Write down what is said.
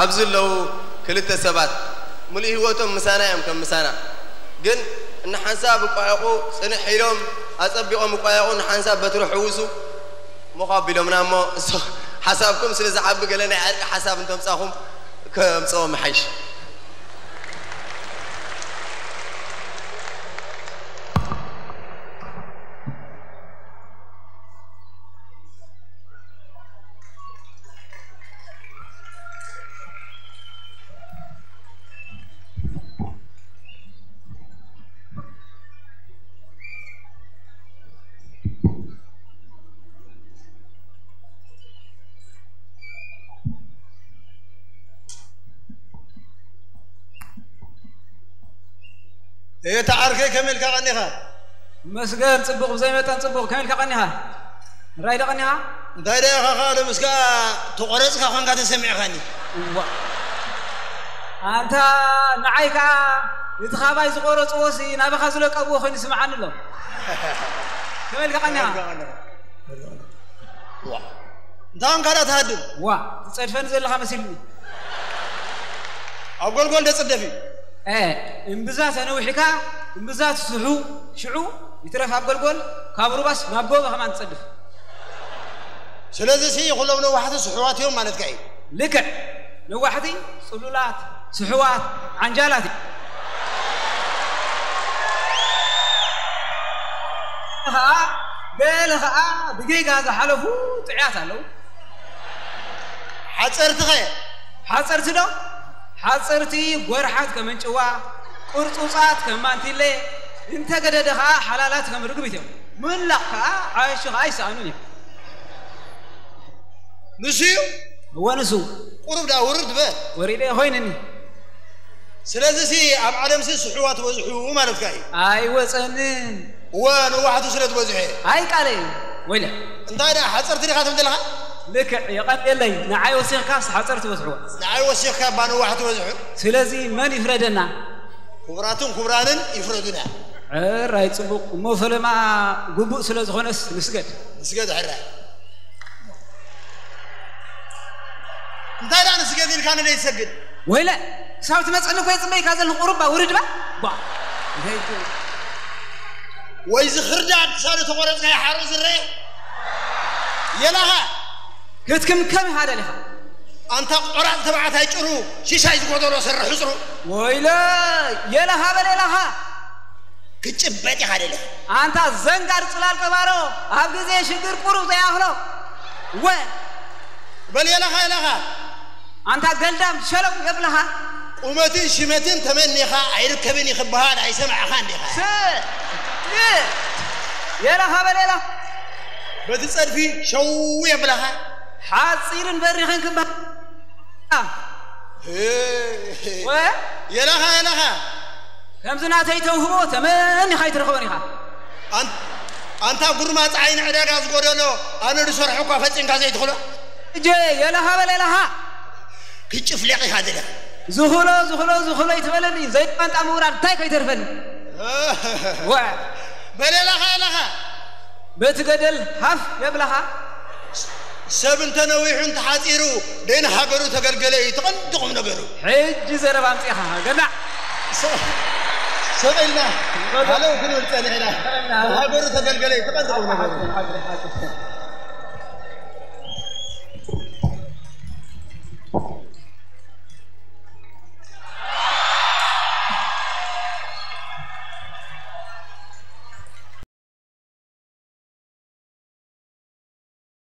ኣብዚ ኣለዉ ክልተ ሰባት፣ ምሉእ ህይወቶም ምሳና እዮም፣ ከም ምሳና። ግን እንሓንሳብ እቋየቑ፣ ጽንሕ ኢሎም ኣጸቢቖም እቋየቑ፣ እንሓንሳብ በትሪ ሕውሱ። ሞኽ ኣቢሎምና እሞ፣ እሱ ሓሳብኩም ስለ ዝዓቢ፣ ገለ ናይ ዕርቂ ሓሳብ እንተምጻኹም ከምጽኦ ምሓይሽ። እታ ዓርከይ ከመይ ኢልካ ቀኒኻ? መስገን ጽቡቕ፣ ብዘይ መጠን ጽቡቕ። ከመይ ኢልካ ቀኒኻ? ራይ ዶ ቀኒኻ? እንታይ ደኣ ኢኻ ካልእ ምስካ ተቖረጽካ ኳንካ ተሰሚዕካኒ? እዋ። ኣንታ ንዓይ ከኣ እቲ ካባይ ዝቖረጽዎሲ ናባኻ ዝለቀብዎ ኮይኑ ይስምዓኒ ኣሎ። ከመይ ኢልካ ቀኒኻ? ዋ። እንታይ ኳንካ ደኣ ትሃድም? ዋ፣ ትጸድፈኒ ዘለኻ መሲሉኒ። ኣብ ጎልጎል ደጽደፍ እዩ። እ፣ እምብዛ ተነዊሕካ፣ እምብዛ ትስሑ፣ ሽዑ ይትረፍ ኣብ ጎልጎል፣ ካብ ሩባስ ናብ ጎቦ ከማን ትጸድፍ። ስለዚ ሲ ኩሎም ነዋሕቲ ስሑዋት እዮም ማለትካ እዩ። ልክዕ። ነዋሕቲ፣ ጽሉላት፣ ስሑዋት፣ ዓንጃላት እዮም። ኸኣ፣ ገለ ኸኣ ብጌጋ ዝሓለፉ ጥዑያት ኣለዉ። ሓጸርትኸ? ሓጸርቲ ዶ? ሓጸርቲ ጎርሓት ከም ኣንጭዋ፣ ቅርጹጻት ከም ማንቲለ፣ እንተገደደ ኸኣ ሓላላት ከም ርግቢት እዮም። ምንላቕ ከኣ ዓያሹ ኸኣ ኣይሰኣኑን እዮም። ንሱ እዩ? እወ፣ ንሱ። ቁሩብ ደኣ ውርድ በል። ወሪደ ኮይንኒ። ስለዚሲ ኣብ ዓለምሲ ስሑዋት በዝሑ ማለትካ እዩ። ኣይወጸንን። እወ፣ ነዋሕቱ ስለ ዝበዝሑ እየ። ኣይ ቃለይ፣ ወይለ። እንታይ ደኣ ሓጸርቲ ዲኻ ትብል ዘለኻ? ልክዕ፣ የቐንየለይ። ንዓይ ወሲኽካስ ሓጸርቲ በዝሕዋ። ንዓይ ወሲኽካ እባ ነዋሕቱ በዝሑ። ስለዚ መን ይፍረደና? ክቡራትን ክቡራንን ይፍረዱና። ሕራይ ጽቡቕ። እሞ ፈለማ ግቡእ ስለ ዝኾነስ ንስገድ። ንስገድ ሕራይ። እንታይ ደኣ ንስገድ ኢልካ ንደይ ትሰግድ? ወይለ፣ ክሳብ ትመጽእኒ እኮ የጽበይካ ዘለኹ። ቁሩብ ባ ውርድ ባ። ባ። ወይ ዝኽርዳድ ክሳብ ተቆረጽካ ይሓርቕ ዝረአ። የላኻ። ክትክምከም ኢኻ ደሊኻ። ኣንታ ቆራጽ ተባዕታይ ጭሩ፣ ሽሻይ ዝጎደሎ ሰረ ሕጽሩ። ወይለ፣ የላኻ በል የላኻ። ክጭበጥ ኢኻ ደሊኻ። ኣንታ ዘንጋር ጽላል ቀባሮ፣ ኣብ ግዜ ሽግር ቁሩብ ዘይኣኽሎ። ወ። በል የላኻ፣ የላኻ። ኣንታ ገልዳም ሸለው የብልኻ። ቁመትን ሽመትን ተመኒኻ ኣይርከብን እዩ ክበሃል ኣይሰማዕኻን ዲኻ? ስ-፣ እ-፣ የላኻ በል የላ። በቲ ጸድፊ ሸው የብልኻ። ሓጺርን በሪኽን ክበሃል። እ-፣ ወ-፣ የላኻ፣ የላኻ። ከምዚ ናተይ ተውህቦ ተመኒኻ ኣይትረኽቦን ኢኻ። ኣን-፣ ኣንታ ጉርማጽ ዓይኒ ዕዳጋ ዝጎደሎ፣ ኣነ ዝሰርሖ እኳ ፈጺምካ ዘይትኽሎ። እጀ የለኻ በል የለኻ። ክጭፍለቕ ኢኻ ዘለኻ። ዝኽሎ፣ ዝኽሎ፣ ዝኽሎ ይትበለኒ፣ ዘይቋንጣ ምውራድ እንታይ ከይተርፈኒ። ወ-፣ በል የለኻ፣ የለኻ። በቲ ገደል ሃፍ የብለኻ። ሰብ እንተ ነዊሑ እንተ ሓጺሩ፣ ደይን ሃገሩ ተገልገለ እዩ፣ እቲ ቀንዲ ቁም ነገሩ። ሕጂ ዘረባ ኣምጺእኻ፣ ገናዕ። ሰ-፣ ሰቕ ኢልና፣ ሃለው ክንብል ጸኒሕና። ሃገሩ ተገልገለ እዩ፣ እቲ ቀንዲ ቁም ነገሩ። ሓቂ፣ ሓቂ፣ ሓቂ።